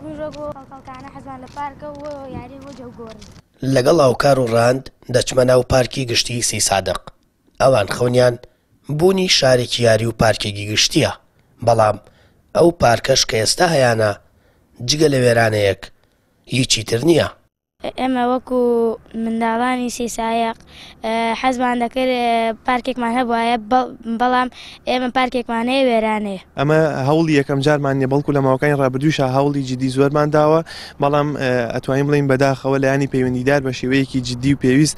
بووین وەکو خەڵکانە حەزمان لە پارکە و یاری و جەوگۆڕی. لەگەڵ هاوکار و ڕاند دەچمە ناو پارکی گشتیی سەیسادق. ئەوان خەونیان بوونی شارێکی یاری و پارکێکی گشتییە، بەڵام ئەو پارکەش کە ئێستا هەیانە جگە لە وێرانەیەک هیچی تر نییە. ئێمە وەکو منداڵانی سیسایەق حەزمان دەکرد پارکێکمان هەبوایە، بەڵام ئێمە پارکێکمان هەیە وێرانەیە. ئەمە هەوڵی یەکەم جارمان نیە، بەڵکو لە ماوەکانی ڕابردوویشا هەوڵی جدی زۆرمان داوە، بەڵام ئەتوانین بڵێین بەداخەوە لایەنی پەیوەندیدار بە شێوەیەکی جدی و پێویست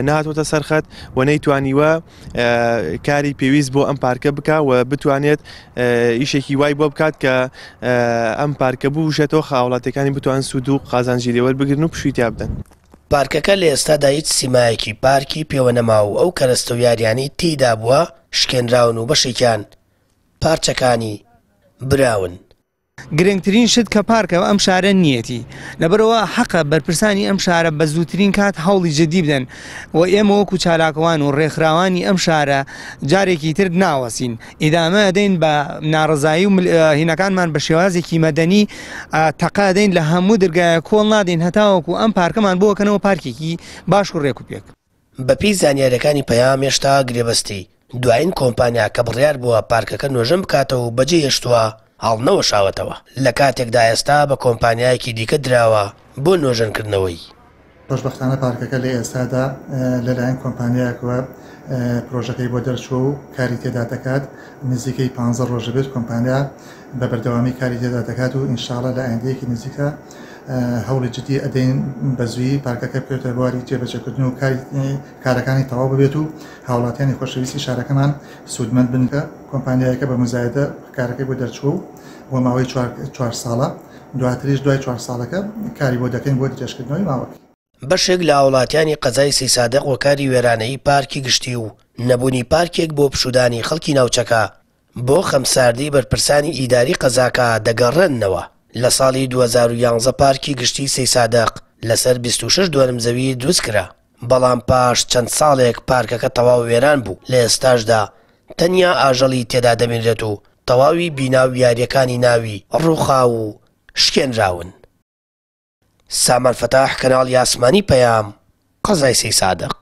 نەهاتووەتە سەر خەت و نەیتوانیوە کاری پێویست بۆ ئەم پارکە بکا و بتوانێت ئیشێکی وای بۆ بکات کە ئەم پارکە بوژێتەوە هاوڵاتیەکانی بتوان سوود و قازانجی لێوەربگرن و پشووی تیا بدەن. پارکەکە لە ئێستادا هیچ سیمایەکی پارکی پێوە نەماوە و ئەو کەرەستە و یاریانەی تێیدا بووە شکێنراون و بەشێکیان پارچەکانی براون. گرنگترین شت کە پارکە ئەم شارە نیەتی لەبەرئەوە حەقە بەرپرسانی ئەم شارە بە زووترین کات هەوڵی جدی بدەن و ئێمە وەکو چالاکوان و ڕێکخراوانی ئەم شارە جارێکی تر ناوەستین ئیدامە ئەدەین بە ناڕەزایی و هینەکانمان بە شێوازێکی مەدەنی تەقە ئەدەین لە هەموو درگایە کۆڵ نادەین هەتاوەکو ئەم پارکەمان بۆ کەنەوە پارکێکی باش و ڕێک و پێک. بەپێی زانیارییەکانی پەیام هێشتا گرێبەستی دوایین کۆمپانیا کە بڕیار بووە پارکەکە نۆژەن بکاتەوە و بەجێی هێشتووە هەڵنەوەشاوەتەوە، لە کاتێکدا ئێستا بە کۆمپانیایەکی دیکە دراوە بۆ نۆژەنکردنەوەی. خۆشبەختانە پارکەکە لە ئێستادا لەلایەن کۆمپانیایەکەوە پرۆژەکەی بۆ دەرچووە و کاری تێدا دەکات، نزیکەی پانزە ڕۆژ دەبێت کۆمپانیا بە بەردەوامی کاری تێدا دەکات و ئینشاڵا لە ئایندەیەکی نزیکا هەوڵی جدی ئەدەین بە زوویی پارکەکە بکەوێتە بواری جێبەجێکردن و کاری کارەکانی تەواو ببێت و هاوڵاتیانی خۆشەویستی شارەکەمان سوودمەند بن کە کۆمپانیایەکە بە مزایدە کارەکەی بۆ دەرچووە و بۆ ماوەی چوار ساڵە دواتریش دوای چوار ساڵەکە کاری بۆ دەکەین بۆ درێژکردنەوەی ماوەکەی. بەشێک لە هاوڵاتیانی قەزای سەیسادق هۆکاری وێرانەیی پارکی گشتی و نەبوونی پارکێک بۆ پشوودانی خەڵکی ناوچەکە بۆ خەمساردی بەرپرسانی ئیداری قەزاکە دەگەڕێننەوە. لە ساڵی 2011 پارکی گشتی سەیسادق لەسەر 26 دۆنم زەوی دروستکرا، بەڵام پاش چەند ساڵێک پارکەکە تەواو وێران بوو، لە ئێستاشدا تەنیا ئاژەڵی تێدا دەبینرێت و تەواوی بینا و یارییەکانی ناوی ڕووخاو و شکێنراون. سامان فەتاح، کەناڵی ئاسمانی پەیام، قەزای سەیسادق.